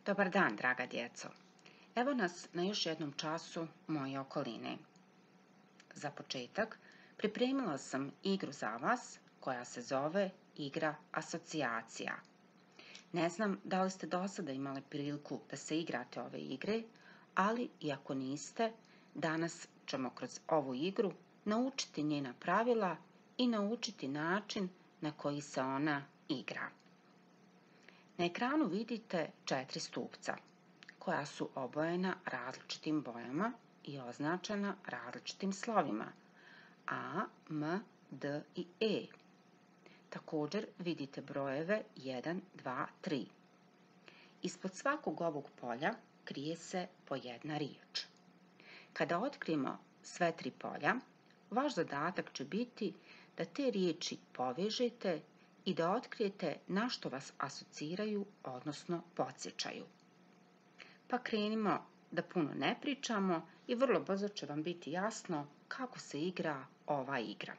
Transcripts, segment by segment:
Dobar dan, draga djeco. Evo nas na još jednom času moje okoline. Za početak, pripremila sam igru za vas koja se zove igra asocijacija. Ne znam da li ste do sada imali priliku da se igrate ove igre, ali i ako niste, danas ćemo kroz ovu igru naučiti njena pravila i naučiti način na koji se ona igra. Na ekranu vidite 4 stupca koja su obojena različitim bojama i označena različitim slovima A, M, D i E. Također vidite brojeve 1, 2, 3. Ispod svakog ovog polja krije se po jedna riječ. Kada otkrijemo sve 3 polja, vaš zadatak će biti da te riječi povežete i da otkrijete na što vas asociraju, odnosno podsjećaju. Pa krenimo da puno ne pričamo i vrlo brzo će vam biti jasno kako se igra ova igra.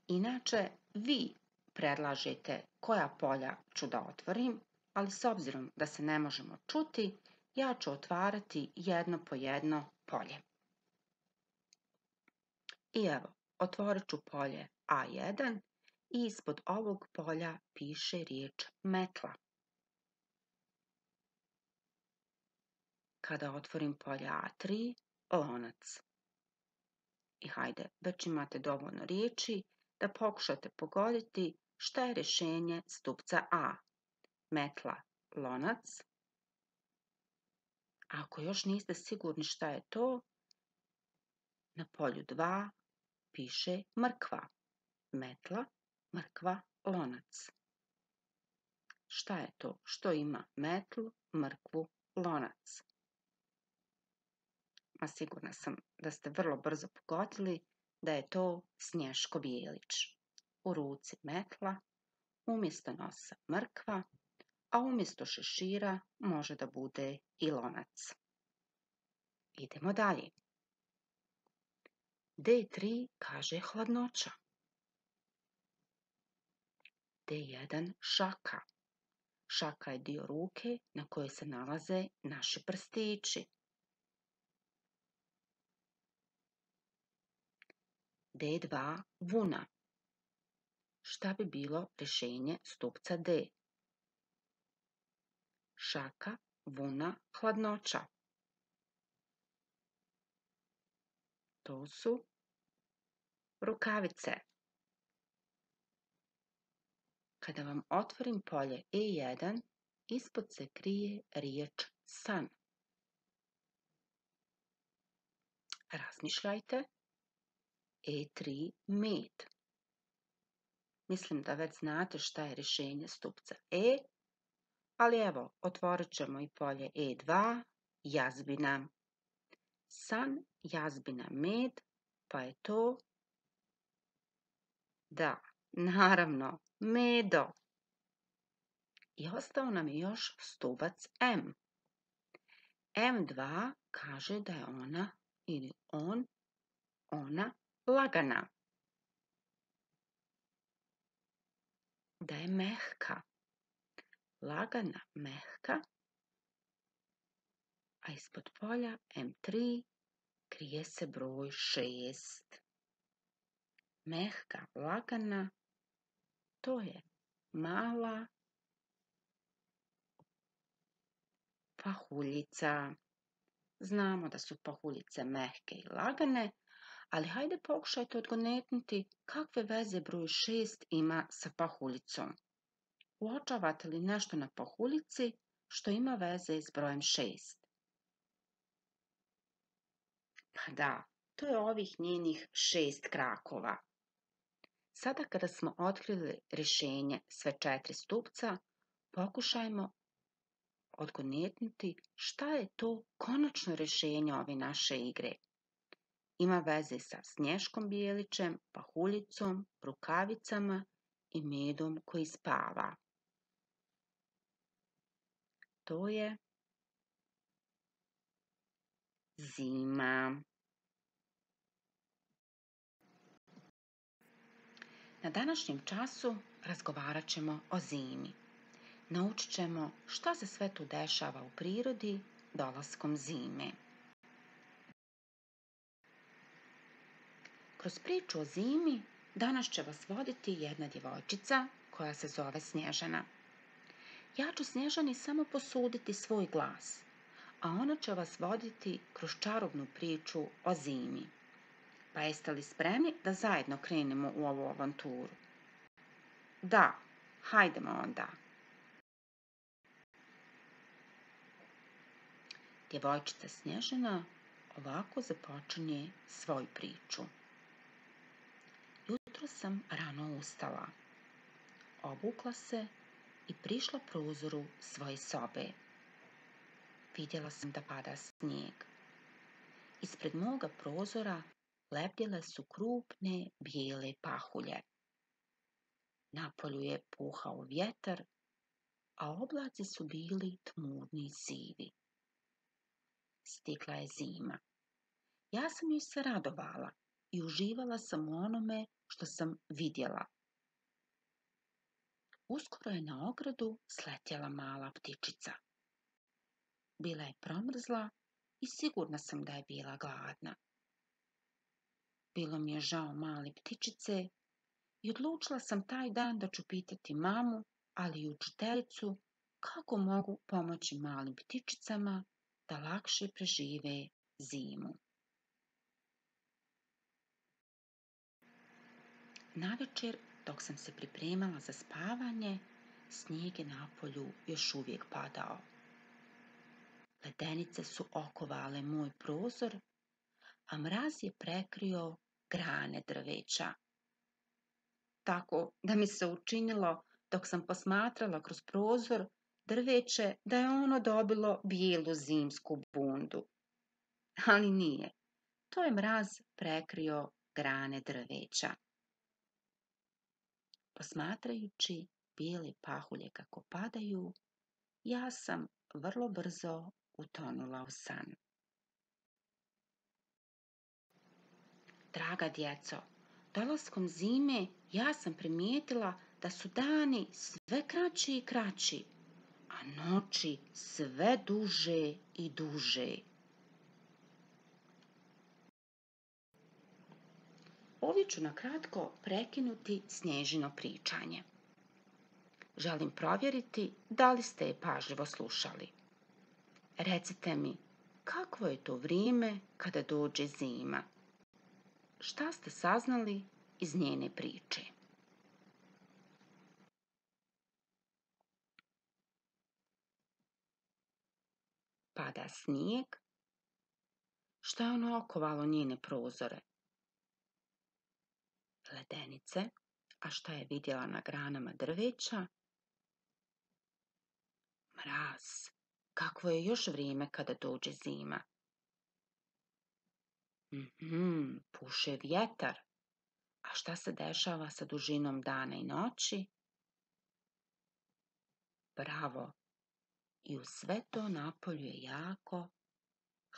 Inače, vi predlažete koja polja ću da otvorim, ali s obzirom da se ne možemo čuti, ja ću otvarati jedno po jedno polje. I evo, otvorit ću polje A1 i ispod ovog polja piše riječ metla. Kada otvorim polje A3, lonac. I hajde, već imate dovoljno riječi da pokušate pogoditi šta je rješenje stupca A. Metla, lonac. Ako još niste sigurni šta je to, na polju 2 piše mrkva. Metla, mrkva, lonac. Šta je to? Što ima metlu, mrkvu, lonac? A sigurna sam da ste vrlo brzo pogodili da je to Snješko Bijelić. U ruci metla, umjesto nosa mrkva, a umjesto šešira može da bude i lonac. Idemo dalje. D3 kaže hladnoća. D1 šaka. Šaka je dio ruke na kojoj se nalaze naši prstići. D2 vuna. Šta bi bilo rješenje stupca D? Šaka, vuna, hladnoća. To su rukavice. Kada vam otvorim polje E1, ispod se krije riječ san. Razmišljajte. E3 med. Mislim da već znate šta je rješenje stupca E, ali evo, otvorit ćemo i polje E2, jazbina. San, jazbina, med, pa je to, da, naravno, medo. I ostao nam je još stupac M. M2 kaže da je ona ili on, ona lagana. Da je mehka. Lagana, mehka. A ispod polja M3 krije se broj 6. Mehka, lagana, to je mala pahuljica. Znamo da su pahuljice mehke i lagane, ali hajde pokušajte odgonetnuti kakve veze broj 6 ima sa pahuljicom. Uočavate li nešto na pahuljici što ima veze s brojem 6? Pa da, to je ovih njenih 6 krakova. Sada kada smo otkrili rješenje sve 4 stupca, pokušajmo odgonetnuti šta je to konačno rješenje ove naše igre. Ima veze sa Snješkom Bijelićem, pahuljicom, rukavicama i medom koji spava. To je zima. Na današnjem času razgovarat ćemo o zimi. Naučit ćemo šta se sve tu dešava u prirodi dolaskom zime. Kroz priču o zimi danas će vas voditi jedna djevojčica koja se zove Snježana. Ja ću Snježani samo posuditi svoj glas, a ona će vas voditi kroz čarobnu priču o zimi. Pa jeste li spremni da zajedno krenemo u ovu avanturu? Da, hajdemo onda. Djevojčica Snježana ovako započinje svoju priču. Jutro sam rano ustala, obukla se i prišla prozoru svoje sobe. Vidjela sam da pada snijeg. Ispred moga prozora lebdjele su krupne bijele pahulje. Napolju je puhao vjetar, a oblaci su bili tmurni i sivi. Stigla je zima. Ja sam joj se radovala i uživala sam u onome što sam vidjela. Uskoro je na ogradu sletjela mala ptičica. Bila je promrzla i sigurna sam da je bila gladna. Bilo mi je žao male ptičice i odlučila sam taj dan da ću pitati mamu, ali i učiteljicu, kako mogu pomoći malim ptičicama da lakše prežive zimu. Navečer, dok sam se pripremala za spavanje, snijeg je napolju još uvijek padao. Ledenice su okovale moj prozor, a mraz je prekrio grane drveća. Tako da mi se učinilo, dok sam posmatrala kroz prozor drveće, da je ono dobilo bijelu zimsku bundu. Ali nije. To je mraz prekrio grane drveća. Posmatrajući bijele pahulje kako padaju, ja sam vrlo brzo utonula u san. Draga djeco, dolaskom zime ja sam primijetila da su dani sve kraći i kraći, a noći sve duže i duže. Ovdje ću na kratko prekinuti Snježino pričanje. Želim provjeriti da li ste je pažljivo slušali. Recite mi, kakvo je to vrijeme kada dođe zima? Šta ste saznali iz njene priče? Pada snijeg. Šta je ono okovalo njene prozore? Ledenice. A šta je vidjela na granama drveća? Mraz. Kakvo je još vrijeme kada dođe zima? Puše vjetar. A šta se dešava sa dužinom dana i noći? Bravo. I uz sve to napolju je jako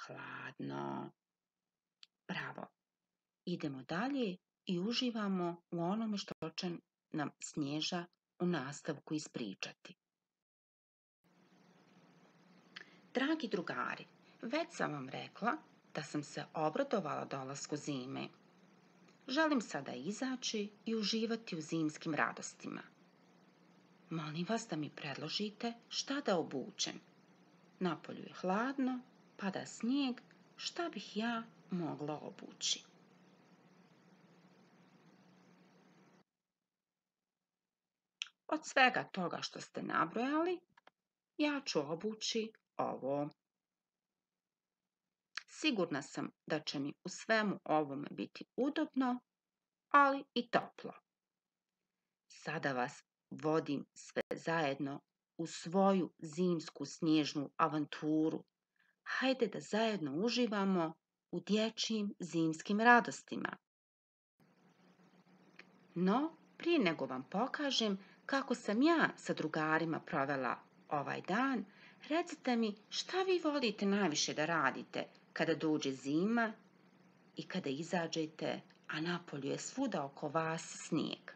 hladno. Bravo. Idemo dalje i uživamo u onome što će nam Snježa u nastavku ispričati. Dragi drugari, već sam vam rekla da sam se obradovala dolasku zime. Želim sada izaći i uživati u zimskim radostima. Molim vas da mi predložite šta da obučem. Napolju je hladno, pada snijeg, šta bih ja mogla obući? Od svega toga što ste nabrojali, ja ću obući ovo. Sigurna sam da će mi u svemu ovome biti udobno, ali i toplo. Sada vas vodim sve zajedno u svoju zimsku snježnu avanturu. Hajde da zajedno uživamo u dječjim zimskim radostima. No, prije nego vam pokažem kako sam ja sa drugarima provela ovaj dan, recite mi šta vi volite najviše da radite kada dođe zima i kada izađete, a napolju je svuda oko vas snijeg.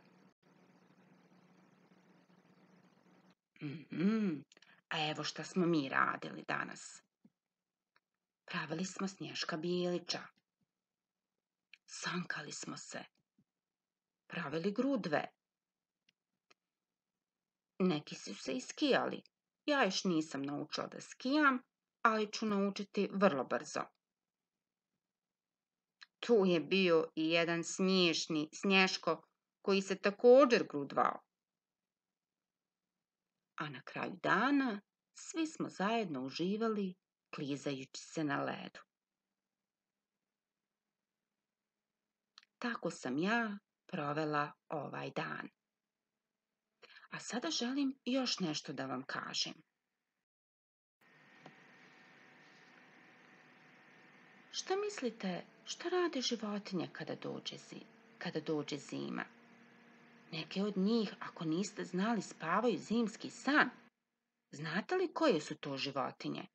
Mhm. A evo šta smo mi radili danas. Pravili smo Snješka Bilića. Sankali smo se. Pravili grudve. Neki su se i skijali. Ja još nisam naučila da skijam, ali ću naučiti vrlo brzo. Tu je bio i jedan smiješni Snješko koji se također grudvao. A na kraju dana svi smo zajedno uživali klizajući se na ledu. Tako sam ja provela ovaj dan. A sada želim još nešto da vam kažem. Šta mislite, šta rade životinje kada dođe zima? Neke od njih, ako niste znali, spavaju zimski san. Znate li koje su to životinje?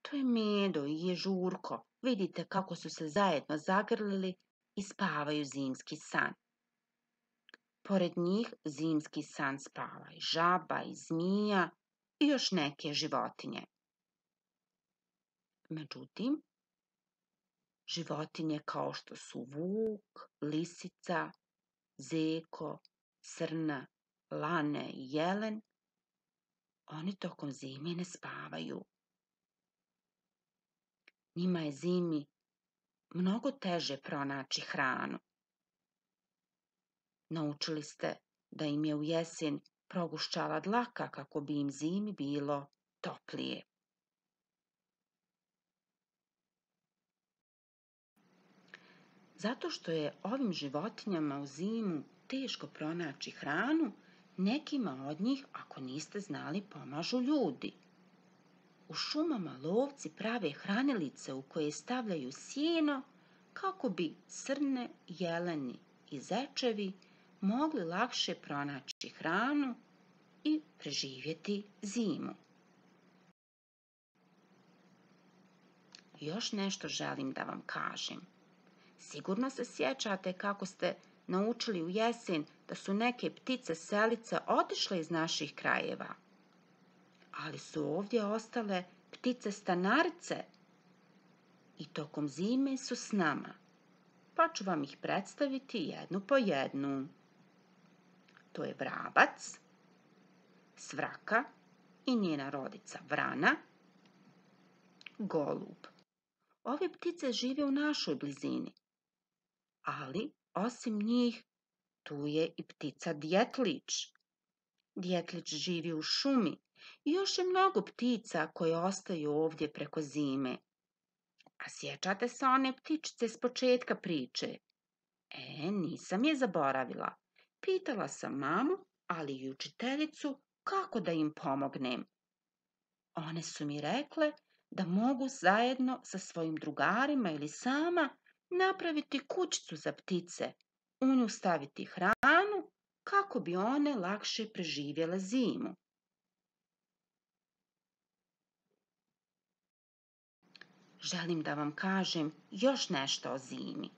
To je Medo i Ježurko. Vidite kako su se zajedno zagrlili i spavaju zimski san. Pored njih zimski san spava i žaba i zmija i još neke životinje. Međutim, životinje kao što su vuk, lisica, zeko, srna, lane i jelen, oni tokom zime ne spavaju. Njima je zimi mnogo teže pronaći hranu. Naučili ste da im je u jesen progušćala dlaka kako bi im zimi bilo toplije. Zato što je ovim životinjama u zimu teško pronaći hranu, nekima od njih, ako niste znali, pomažu ljudi. U šumama lovci prave hranilice u koje stavljaju sjeno kako bi srne, jeleni i zečevi mogli lakše pronaći hranu i preživjeti zimu. Još nešto želim da vam kažem. Sigurno se sjećate kako ste naučili u jesen da su neke ptice selice otišle iz naših krajeva, ali su ovdje ostale ptice stanarice i tokom zime su s nama, pa ću vam ih predstaviti jednu po jednu. To je vrabac, svraka i njena rodica vrana, golub. Ove ptice žive u našoj blizini, ali osim njih tu je i ptica djetlić. Djetlić živi u šumi i još je mnogo ptica koje ostaju ovdje preko zime. A sjećate se one ptičice s početka priče? Nisam je zaboravila. Pitala sam mamu, ali i učiteljicu kako da im pomognem. One su mi rekle da mogu zajedno sa svojim drugarima ili sama napraviti kućicu za ptice, u nju staviti hranu kako bi one lakše preživjele zimu. Želim da vam kažem još nešto o zimi.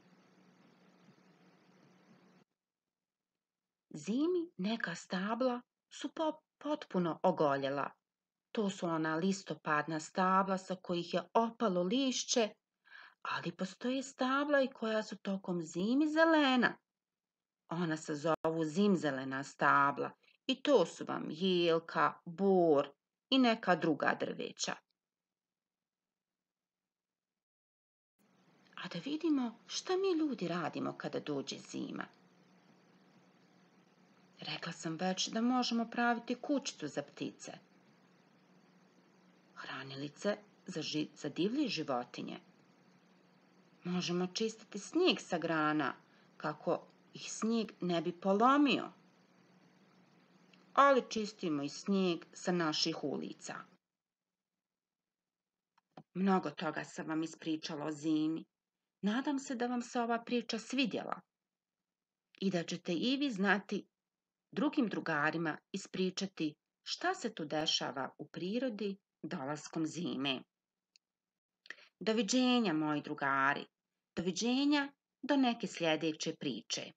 Zimi neka stabla su potpuno ogoljela. To su ona listopadna stabla sa kojih je opalo lišće, ali postoje stabla i koja su tokom zimi zelena. Ona se zovu zimzelena stabla i to su vam jelka, bor i neka druga drveća. A da vidimo šta mi ljudi radimo kada dođe zima. Rekla sam već da možemo praviti kućicu za ptice, hranilice za divlje životinje. Možemo čistiti snijeg sa grana kako ih snijeg ne bi polomio, ali čistimo i snijeg sa naših ulica. Mnogo toga sam vam ispričala o zimi. Nadam se da vam se ova priča svidjela i da ćete i vi znati drugim drugarima ispričati šta se tu dešava u prirodi dolaskom zime. Doviđenja, moji drugari. Doviđenja do neke sljedeće priče.